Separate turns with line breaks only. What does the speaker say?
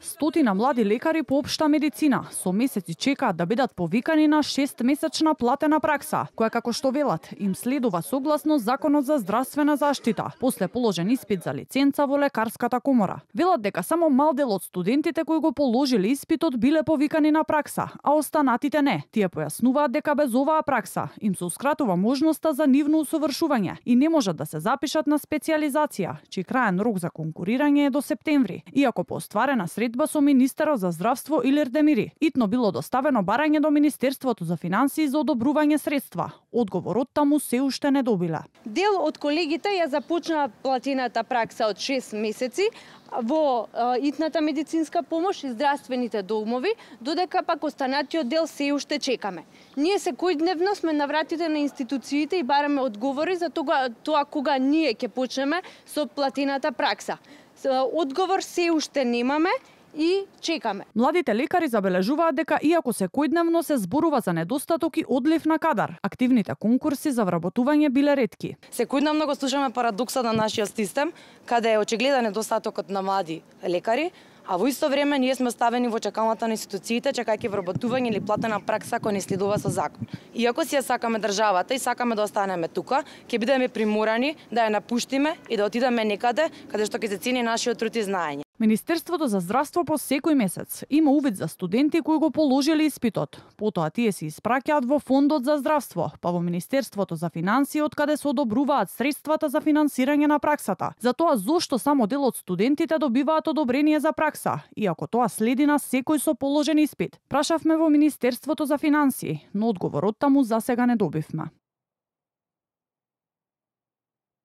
Стотина млади лекари по општа медицина со месеци чекаат да бидат повикани на 6-месечна платена пракса, која како што велат им следува согласно Законот за здравствена заштита, после положен испит за лиценца во лекарската комора. Велат дека само мал дел од студентите кои го положиле испитот биле повикани на пракса, а останатите не. Тие појаснуваат дека без оваа пракса им сеускратува можноста за нивно усовршување и не можат да се запишат на специјализација, чиј краен рок за конкурирање е до септември, иако по остварена средба со министерот за здравство Илир Демири. Итно било доставено барање до Министерството за финансии за одобрување средства. Одговорот таму се уште не добиле.
Дел од колегите ја започнаа платената пракса од 6 месеци во итната медицинска помош и здравствените домови, додека пак останатиот дел се уште чекаме. Ние секојдневно сме на вратите на институциите и бараме одговори за тоа кога ние ќе почнеме со платената пракса. Одговор се уште немаме и чекаме.
Младите лекари забележуваат дека иако секојдневно се зборува за недостаток и одлив на кадар, активните конкурси за вработување биле ретки.
Секојдневно го слушаме парадоксот на нашиот систем, каде е очигледен недостатокот на млади лекари, а во исто време ние сме ставени во чекалната на институциите, чекајќи вработување или платена пракса која не следува со закон. Иако си ја сакаме државата и сакаме да останеме тука, ќе бидеме приморани да ја напуштиме и да отидеме некаде каде што ќе се цени нашиот труд и знаење.
Министерството за здравство по секој месец има увид за студенти кои го положиле испитот. Потоа тие се испраќаат во Фондот за здравство, па во Министерството за финансии од каде се одобруваат средствата за финансирање на праксата. За тоа зошто само дел од студентите добиваат одобрение за пракса, иако тоа следи на секој со положен испит. Прашавме во Министерството за финансии, но одговорот таму засега не добивме.